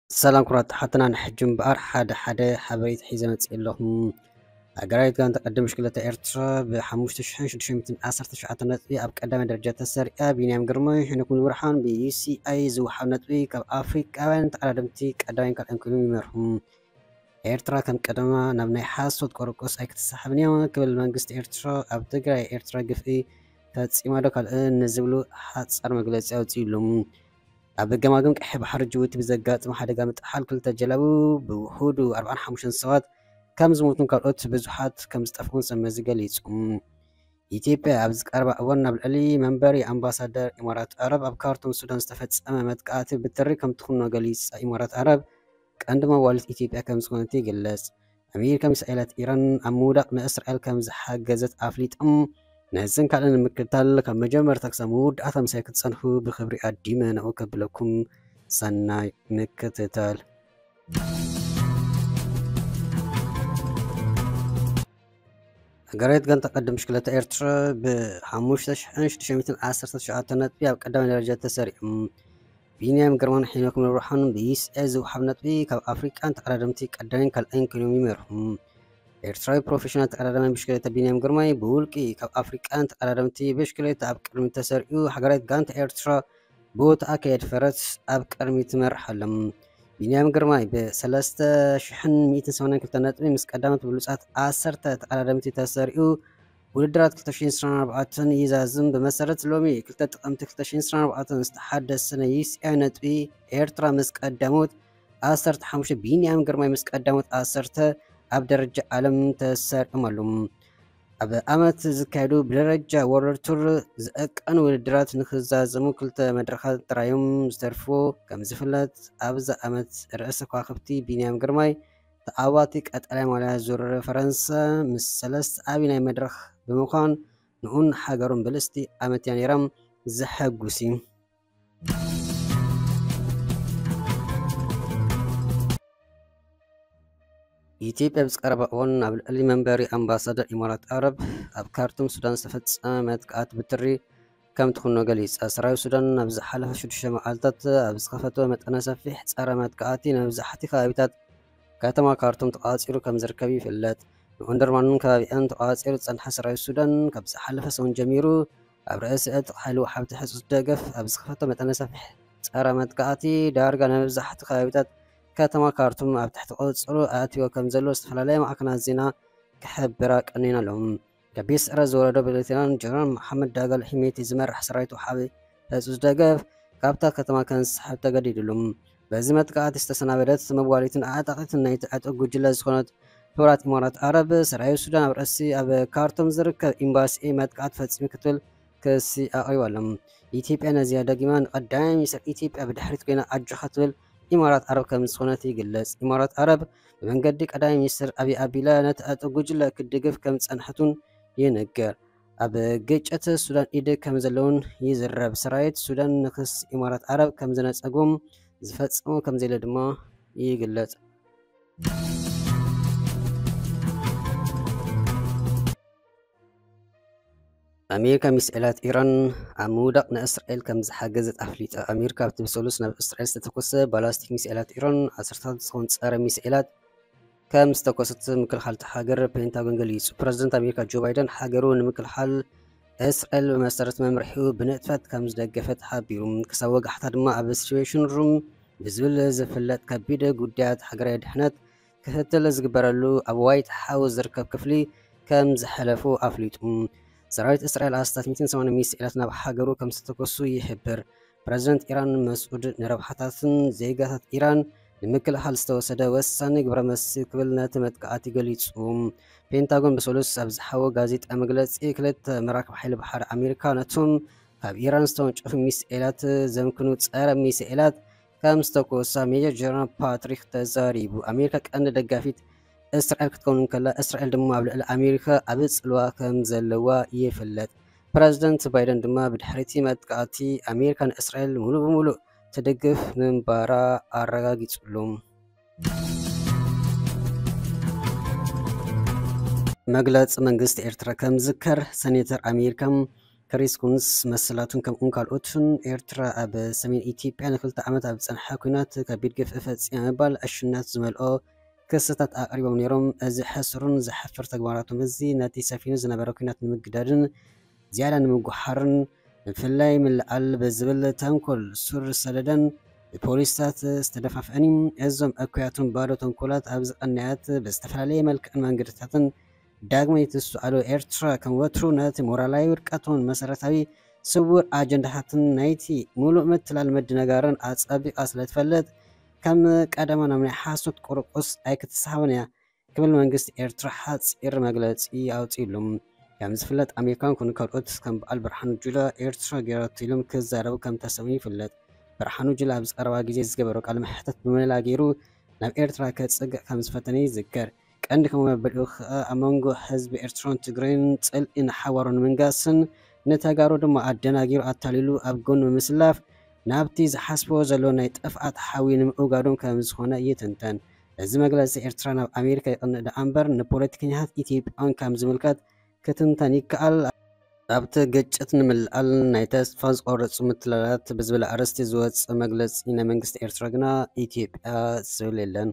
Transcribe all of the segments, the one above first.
ሰላም ክቡራት ተሓትና፣ ንሕጂ እምበኣር ሓደ ሓደ ሓበሬታ ሒዘ መፅእ ኣለኹም። ሃገራዊት ጋንታ ቅድድም ብሽክለታ ኤርትራ ብ ሓሙሽተ ሽሕን ሽዱሽተ ሚእትን ዓሰርተ ትሽዓተ ነጥቢ ኣብ ቀዳማይ ደረጃ ተሰሪዓ። ቢንያም ግርማይ፣ ሄኖክ ሙሉብርሃን ብ ዩ ሲ ኣይ ዝወሃብ ነጥቢ ካብ ኣፍሪቃውያን ተቐዳደምቲ ቀዳማይን ካልኣይን ኮይኖም ይመርሑ። ኤርትራ ከም ቀደማ ናብ ናይ ሓሶት ቆርቆስ ኣይክትሰሓብን እያ ክብል መንግስቲ ኤርትራ ኣብ ትግራይ ኤርትራ ግፍዒ ፈጺማ ዶ ካልእ ንዝብሉ ሓጻር መግለጺ ኣውጺኡሉ። ኣብ ገማግም ቀይሕ ባሕሪ ጅቡቲ ብዘጋጠመ ሓደጋ ምጥሓል ክልተ ጀላቡ ብውሑዱ ኣርባዓን ሓሙሽተን ሰባት ከም ዝሞቱን ካልኦት ብዙሓት ከም ዝጠፍኡን ሰብ መዚ ገሊጹ። ኢትዮጵያ ኣብዚ ቀረባ እዋን ናብ ልዕሊ መንበሪ ኣምባሳደር ኢማራት ኣረብ ኣብ ካርቱም ሱዳን ዝተፈጸመ መጥቃዕቲ ብትሪ ከም ትኹንኖ ገሊጻ። ኢማራት ኣረብ ቀንዲ መዋልት ኢትዮጵያ ከም ዝኾነት ይግለጽ። ኣሜሪካ ሚሳኤላት ኢራን ኣብ ምውዳቕ ንእስራኤል ከም ዝሓገዘት ኣፍሊጦም፣ ነዝን ካልእን ንምክትታል ካብ መጀመርታ ክሳብ መወዳእታ ምሳይ ክትጸንሑ ብኽብሪ ኣዲመ ንዑ ከብለኩም። ሰናይ ምክትታል። ሃገራዊት ጋንታ ቀድም ብሽክለታ ኤርትራ ብ ሓሙሽተ ሽሕን ሽዱሽተ ሚእትን ዓሰርተ ትሽዓተ ነጥቢ ኣብ ቀዳማይ ደረጃ ተሰሪዑ። ቢንያም ግርማን ሄኖክ ሙሉብርሃን ብ ዩ ሲ ኣይ ዝወሃብ ነጥቢ ካብ ኣፍሪቃን ተቐዳደምቲ ቀዳማይን ካልኣይን ኮይኖም ይመርሑ። ኤርትራዊ ፕሮፌሽናል ተቐዳዳማይ ብሽክሌታ ቢንያም ግርማይ ብውልቂ ካብ ኣፍሪቃን ተቐዳደምቲ ብሽክሌታ ኣብ ቅድሚት ተሰሪዑ፣ ሃገራዊት ጋንታ ኤርትራ ብወትኣ ከየድፈረት ኣብ ቅድሚት ትመርሕ ኣላ። ቢንያም ግርማይ ብ ሰለስተ ሽሕን ሚእትን ሰማንያን ክልተ ነጥቢ ምስ ቀዳሞት ብሉጻት ዓሰርተ ተቐዳደምቲ ተሰሪዑ፣ ውድድራት ክልተ ሽሕን ዕስራን ኣርባዕተን ይዛዝም። ብመሰረት ሎሚ ክልተ ጥቅምቲ ክልተ ሽሕን ዕስራን ኣርባዕተን ዝተሓደሰ ናይ ዩ ሲ ኣይ ነጥቢ፣ ኤርትራ ምስ ቀዳሞት ዓሰርተ ሓሙሽተ፣ ቢንያም ግርማይ ምስ ቀዳሞት ዓሰርተ ኣብ ደረጃ ዓለም ተሰሪዖም ኣለዉ። ኣብ ዓመት ዝካየዱ ብደረጃ ወርልድ ቱር ዝዕቀኑ ውድድራት ንክዛዘሙ ክልተ መድረኻት ጥራዮም ዝተርፉ። ከም ዝፍለጥ፣ ኣብዚ ዓመት ርእሰ ከዋኽብቲ ቢንያም ግርማይ ተዓዋቲ ቀጠልያ ማልያ ዙር ፈረንሳ ምስ ሰለስተ ዓቢ ናይ መድረኽ ብምዃን ንኡን ሃገሩን ብልጽቲ ዓመት እያ ነይራ። ዘሐጉስ እዩ። ኢትዮጵያ ብዝቀረባ እዋን ኣብ ልዕሊ መንበሪ ኣምባሳደር ኢማራት ኣረብ ኣብ ካርቱም ሱዳን ዝተፈጸመ መጥቃዕቲ ብትሪ ከም ትኹኖ ገሊጻ። ሰራዊት ሱዳን ኣብ ዝሓለፈ ሽዱሽተ መዓልታት ኣብ ዝኸፈቶ መጠነ ሰፊሕ ጸረ መጥቃዕቲ ንመብዛሕቲ ከባቢታት ከተማ ካርቱም ተቋጺሩ ከም ዝርከብ ይፍለጥ። ንኦንደርማንን ከባቢኣን ተቋጺሩ ዝጸንሐ ሰራዊት ሱዳን ካብ ዝሓለፈ ሰሙን ጀሚሩ ኣብ ርእሲ ዕጥቂ ሓይሊ ወሓብቲ ሕጹጽ ደገፍ ኣብ ዝኸፈቶ መጠነ ሰፊሕ ጸረ መጥቃዕቲ ዳርጋ ንመብዛሕቲ ከባቢታት ከተማ ካርቱም ኣብ ትሕቲ ቁጽጽሩ ኣእትዮ ከም ዘሎ ዝተፈላለያ ማዕከናት ዜና ክሕብራ ቀኒና ኣለዉ። ከቢድ ስዕረት ዝወረዶ ብሌተናል ጀነራል መሓመድ ዳጋሎ ሒሜቲ ዝመራሕ ሰራዊት ወሓቢ ሕጹጽ ደገፍ ካብታ ከተማ ከንስሕብ ተገዲድሉ። በዚ መጥቃዕቲ ዝተሰናበደት መዋሊትን ኣዕጣቒትን ናይቲ ዕጡቕ ጉጅለ ዝኾነት ሕቡራት ኢማራት ዓረብ፣ ሰራዊት ሱዳን ኣብ ርእሲ ኣብ ካርቱም ዝርከብ ኤምባሲ መጥቃዕቲ ፈጺሙ ክትብል ክሲ ኣቕሪባ ኣሎ። ኢትዮጵያ ነዚኣ ደጊማ ንቀዳማይ ሚኒስትር ኢትዮጵያ ብድሕሪት ኮይና ኣጆኻ ትብል ኢማራት ዓረብ ከም ዝኾነት ይግለጽ። ኢማራት ዓረብ ብመንገዲ ቀዳማይ ሚኒስትር ኣብይ ኣቢላ ነቲ ዕጡቕ ጉጅለ ክትድግፍ ከም ዝጸንሐት እውን ይንገር። ኣብ ግጭት ሱዳን ኢድ ከም ዘለውን ይዝረብ። ሰራዊት ሱዳን ንክስ ኢማራት ዓረብ ከም ዝነጸጎም ዝፈጽሞ ከም ዘየለ ድማ ይግለጽ። ኣሜሪካ ሚሳኤላት ኢራን ኣብ ምውዳቕ ንእስራኤል ከም ዝሓገዘት ኣፍሊጣ። ኣሜሪካ ኣብቲ ብሰሉስ ናብ እስራኤል ዝተተኮሰ ባላስቲክ ሚሳኤላት ኢራን ዓሰርታት ዝኸውን ጸረ ሚሳኤላት ከም ዝተኮሰት ምክልኻል እታ ሃገር ፔንታጎን ገሊጹ። ፕረዚደንት ኣሜሪካ ጆ ባይደን ሃገሩ ንምክልኻል እስራኤል ብመሰረት መምርሒኡ ብንጥፈት ከም ዝደገፈት ሓቢሩ። ክሳብ ወጋሕታ ድማ ኣብ ሲቹዌሽን ሩም ብዝብል ዝፍለጥ ከቢድ ጉዳያት ሃገራዊ ድሕነት ክትትል ዝግበረሉ ኣብ ዋይት ሃውስ ዝርከብ ክፍሊ ከም ዝሓለፉ ኣፍሊጡ። ሰራዊት እስራኤል ኣስታት ሚእትን ሰማንያን ሚሳኤላት ናብ ሃገሩ ከም ዝተተኮሱ ይሕብር። ፕረዚደንት ኢራን መስዑድ ንረብሓታትን ዜጋታት ኢራን ንምክልኻል ዝተወሰደ ወሳኒ ግብረ መልሲ ክብል ነቲ መጥቃዕቲ ገሊጹ። ፔንታጎን ብሰሉስ ኣብ ዝሓቦ ጋዜጣ መግለጺ፣ ክልተ መራክብ ሓይሊ ባሕሪ ኣሜሪካ ነቶም ካብ ኢራን ዝተወንጨፉ ሚሳኤላት ዘምክኑ ጸረ ሚሳኤላት ከም ዝተኮሳ ሜጀር ጀነራል ፓትሪክ ተዛሪቡ። ኣሜሪካ ቀንዲ ደጋፊት እስራኤል ክትከውን እንከላ፣ እስራኤል ድማ ኣብ ልዕሊ ኣሜሪካ ዓቢ ጽልዋ ከም ዘለዋ ይፍለጥ። ፕረዚደንት ባይደን ድማ ብድሕሪቲ መጥቃዕቲ ኣሜሪካ ንእስራኤል ሙሉእ ብሙሉእ ትድግፍ ምንባራ ኣረጋጊጹሉ። መግለጺ መንግስቲ ኤርትራ ከም ዝዝከር፣ ሰኔተር ኣሜሪካ ክሪስ ኩንስ መሰላቱን ከምኡን ካልኦትን ኤርትራ ኣብ ሰሜን ኢትዮጵያ ንክልተ ዓመት ኣብ ዝጸንሐ ኲናት ከቢድ ግፍዒ ፈጺማ ምባል ዕሽነት ዝመልኦ ክስታት ኣቕሪቦም ነይሮም። እዚ ሕሱርን ዘሕፍር ተግባራቶም እዚ ነቲ ሰፊኑ ዝነበረ ኲናት ንምግዳድን ዝያዳ ንምጉሓርን ብፍላይ ምልዓል ብዝብል ተንኮል ሱር ሰደደን ብፖሊስታት ዝተደፋፍአን እዩ። እዞም እኩያትን ባዶ ተንኮላት ኣብ ዝቐነያት ብዝተፈላለየ መልክዕን መንገድታትን ዳግመ ይትስኣሉ። ኤርትራ ከም ወትሩ ነቲ ሞራላዊ ውድቀትን መሰረታዊ ስውር ኣጀንዳታትን ናይቲ ሙሉእ ምትላል ምድንጋርን ኣጸቢቓ ስለ ትፈልጥ ከም ቀደማ ናብ ናይ ሓሶት ቁርቁስ ኣይክትሰሃብን እያ ክብል መንግስቲ ኤርትራ ሓጺር መግለጺ ኣውጺእሉ። ከም ዝፍለጥ ኣሜሪካን ኩን ካልኦት ከም በዓል ብርሃኑ ጁላ ኤርትራ ገይራቶ ኢሎም ክዛረቡ ከም ተሰሙ ይፍለጥ። ብርሃኑ ጁላ ኣብዚ ቀረባ ግዜ ዝገበሮ ቃለ መሕተት ብመላ ገይሩ ናብ ኤርትራ ከጽግዕ ከም ዝፈተነ ይዝከር። ቀንዲ ከም መበልኡ ከኣ ኣብ መንጎ ህዝቢ ኤርትራን ትግራይን ጽልኢ ንሓዋሩ ንምንጋስን ንተጋሩ ድማ ኣደናጊሩ ኣታሊሉ ኣብ ጎኑ ብምስላፍ ናብቲ ዝሓስብዎ ዘሎ ናይ ጥፍኣት ሓዊ ንምእጋዶም ከም ዝኾነ ይትንተን። እዚ መግለጺ ኤርትራ ናብ ኣሜሪካ ይቕንእ ደኣ እምበር ንፖለቲከኛታት ኢትዮጵያውያን ከም ዝምልከት ክትንተን ይከኣል። ኣብቲ ግጭት ንምልዓል ናይ ተስፋ ዝቆረጹ ምትላላት ብዝብል ኣርእስቲ ዝወጸ መግለጺ ናይ መንግስቲ ኤርትራ ግና ኢትዮጵያ ዝብል የለን።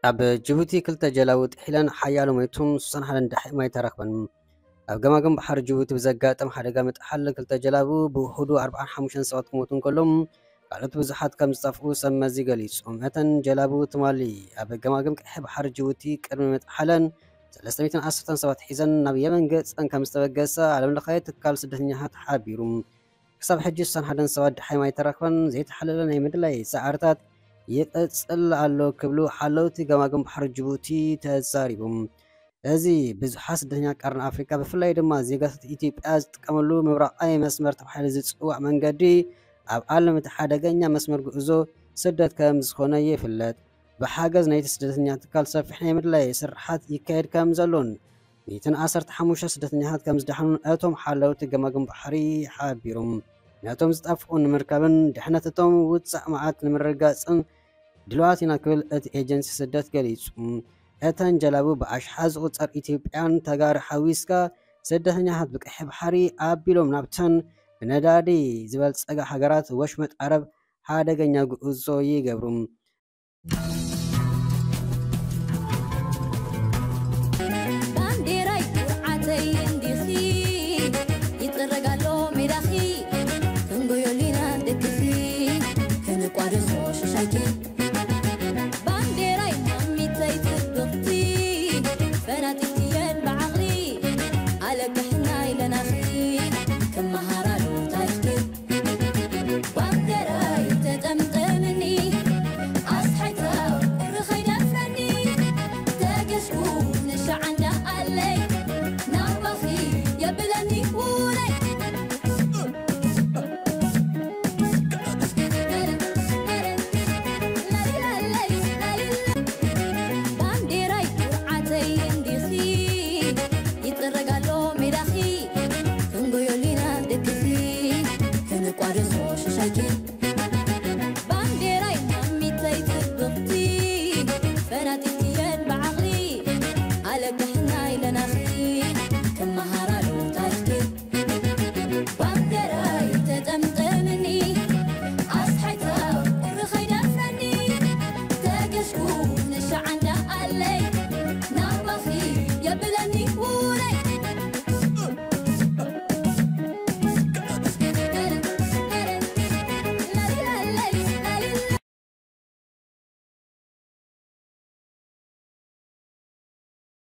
ኣብ ጅቡቲ ክልተ ጀላቡ ጥሒለን ሓያሎ ሞይቶም ስሳን ሓደን ደሓይ ማይ ተረኽበን። ኣብ ገማግም ባሕሪ ጅቡቲ ብዘጋጠም ሓደጋ ምጥሓል ክልተ ጀላቡ ብውሑዱ ኣርባዓን ሓሙሽተን ሰባት ክሞቱ እንከሎም ካልኦት ብዙሓት ከም ዝጠፍኡ ሰብ መዚ ገሊጹ። እተን ጀላቡ ትማሊ ኣብ ገማግም ቀይሕ ባሕሪ ጅቡቲ ቅድሚ ምጥሓለን ሰለስተ ሚእትን ዓሰርተን ሰባት ሒዘን ናብ የመን ገጸን ከም ዝተበገሳ ዓለም ለኻዊ ትካል ስደተኛታት ሓቢሩ። ክሳብ ሕጂ ስሳን ሓደን ሰባት ደሓይ ማይ ተረኽበን ዘይተሓለለ ናይ ምድላይ ጻዕርታት ይቕጽል ኣሎ ክብሉ ሓለውቲ ገማግም ባሕሪ ጅቡቲ ተዛሪቦም። እዚ ብዙሓት ስደተኛ ቀርኒ ኣፍሪቃ ብፍላይ ድማ ዜጋታት ኢትዮጵያ ዝጥቀመሉ ምብራቓዊ መስመር ተባሂሉ ዝጽዋዕ መንገዲ ኣብ ዓለም እቲ ሓደገኛ መስመር ጉዕዞ ስደት ከም ዝኾነ ይፍለጥ። ብሓገዝ ናይቲ ስደተኛ ትካል ሰፊሕ ናይ ምድላይ ስርሓት ይካየድ ከም ዘሎን ሚእትን ዓሰርተ ሓሙሽተ ስደተኛታት ከም ዝደሓኑን እቶም ሓለውቲ ገማግም ባሕሪ ሓቢሮም። ነቶም ዝጠፍኡ ንምርካብን ድሕነት እቶም ውጻእ መዓት ንምርግጋጽን ድልዋት ኢና ክብል እቲ ኤጀንሲ ስደት ገሊጹ። እተን ጀላቡ ብኣሽሓት ዝቑጸር ኢትዮጵያን ተጋሩ ሓዊስካ ስደተኛታት ብቀይሕ ባሕሪ ኣቢሎም ናብተን ብነዳዲ ዝበልጸጋ ሃገራት ወሽመጥ ዓረብ ሓደገኛ ጉዕዞ ይገብሩ። ባንዴራይ ኩርዓተይ እንዲኺ ይጥረግ ኣሎ ሜዳኺ ክንጎዮ ሊና ደቅኺ ክንቋደሶ ሽሻይኪ ባንዴራይ ማሚተይ ጽብቕቲ ፈናጢትየን ብዓቕሊ ኣለክሕና ኢለናኺ ክመሃራሉ ታሪኽኪ ባንዴራይ ተጠምጠምኒ ኣስሓይታ ቁሪ ኸይደፍረኒ ተገስኩ ንሻዓንዳ ኣለይ ናባኺ የብለኒ ውለይ ባንዴራይ ኩርዓተይ እንዲኺ ይጥረግ ኣሎ ሜዳኺ ክንጎዮ ሊና ደቅኺ ክንቋደሶ ሽሻይኪ ባንዴራይ ማሚተይ ጽብቕቲ ፈናጢትየን ብዓቕሊ ኣለክሕና ኢለናኺ ክመሃ